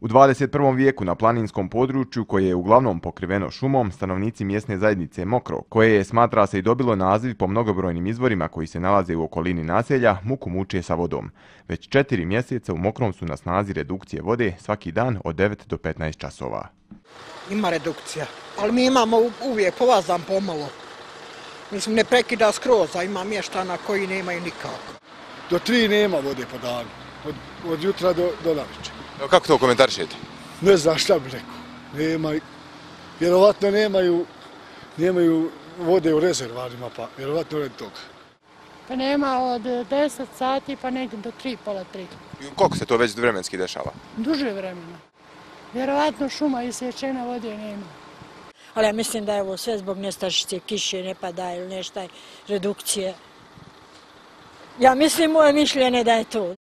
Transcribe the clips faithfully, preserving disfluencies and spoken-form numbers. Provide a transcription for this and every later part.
U dvadeset prvom vijeku na planinskom području, koje je uglavnom pokriveno šumom, stanovnici mjesne zajednice Mokro, koje je, smatra se, i dobilo naziv po mnogobrojnim izvorima koji se nalaze u okolini naselja, muku muče sa vodom. Već četiri mjeseca u Mokrom su na snazi redukcije vode svaki dan od devet do petnaest časova. Ima redukcija, ali mi imamo uvijek povazan pomalo. Mislim, ne prekida skroz, a ima mještana koji nemaju nikako. Do tri nema vode po danu, od, od jutra do, do navečer. Kako to komentarišete? Ne znam šta bi rekao. Nema, vjerovatno nemaju, nemaju vode u rezervarima, pa vjerovatno ne toga. Pa nema od deset sati pa negdje do tri, pola tri. I koliko se to već vremenski dešava? Duže vremena. Vjerovatno šuma isječena, vode nema. Ali ja mislim da je ovo sve zbog nestašice, kiše ne pada ili nešto, redukcije. Ja mislim, moje mišljenje da je to.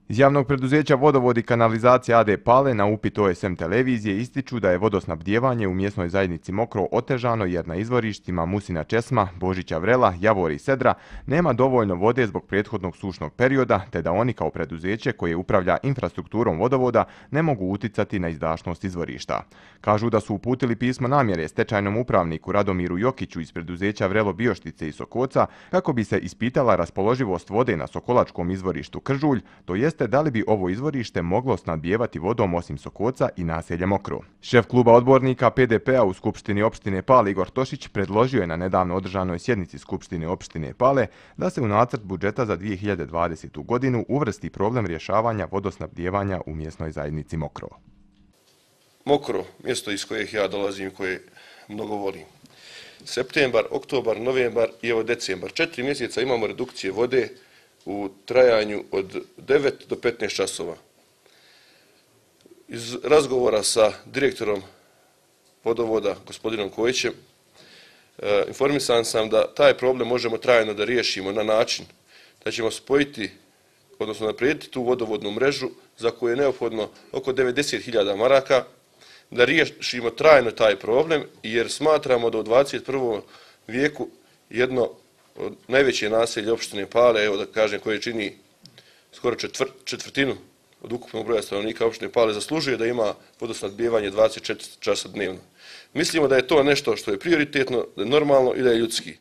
Iz javnog preduzeća Vodovod i kanalizacija A D Pale na upit O S M televizije ističu da je vodosnabdijevanje u mjesnoj zajednici Mokro otežano jer na izvorištima Musina Česma, Božića Vrela, Javor i Sedra nema dovoljno vode zbog prethodnog sušnog perioda, te da oni kao preduzeće koje upravlja infrastrukturom vodovoda ne mogu uticati na izdašnost izvorišta. Kažu da su uputili pismo namjere stečajnom upravniku Radomiru Jokiću iz preduzeća Vrelo Bioštice i Sokoca kako bi se ispitala raspoloživost vode na sokolačkom izvorištu Kržulj, to jest da li bi ovo izvorište moglo snabdijevati vodom osim Sokoca i naselja Mokro. Šef kluba odbornika P D P-a u Skupštini opštine Pale Igor Tošić predložio je na nedavno održanoj sjednici Skupštine opštine Pale da se u nacrt budžeta za dvije hiljade dvadesetu godinu uvrsti problem rješavanja vodosnabdijevanja u mjesnoj zajednici Mokro. Mokro, mjesto iz kojeg ja dolazim, koje mnogo volim. Septembar, oktobar, novembar i evo decembar. Četiri mjeseca imamo redukcije vode u trajanju od devet do petnaest časova. Iz razgovora sa direktorom vodovoda, gospodinom Kojićem, informisan sam da taj problem možemo trajno da riješimo na način da ćemo spojiti, odnosno naprijediti tu vodovodnu mrežu za koju je neophodno oko devedeset hiljada maraka, da riješimo trajno taj problem, jer smatramo da u dvadeset prvom vijeku jedno od najveće naselje opštine Pale, evo da kažem, koje čini skoro četvr, četvrtinu od ukupnog broja stanovnika opštine Pale, zaslužuje da ima vodosnabdijevanje dvadeset četiri časa dnevno. Mislimo da je to nešto što je prioritetno, da je normalno i da je ljudski.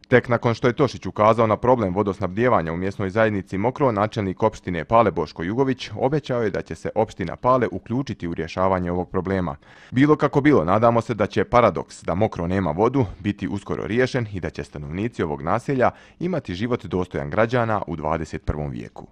Tek nakon što je Tošić ukazao na problem vodosnabdijevanja u mjesnoj zajednici Mokro, načelnik opštine Pale Boško Jugović obećao je da će se opština Pale uključiti u rješavanje ovog problema. Bilo kako bilo, nadamo se da će paradoks da Mokro nema vodu biti uskoro riješen i da će stanovnici ovog naselja imati život dostojan građana u dvadeset prvom vijeku.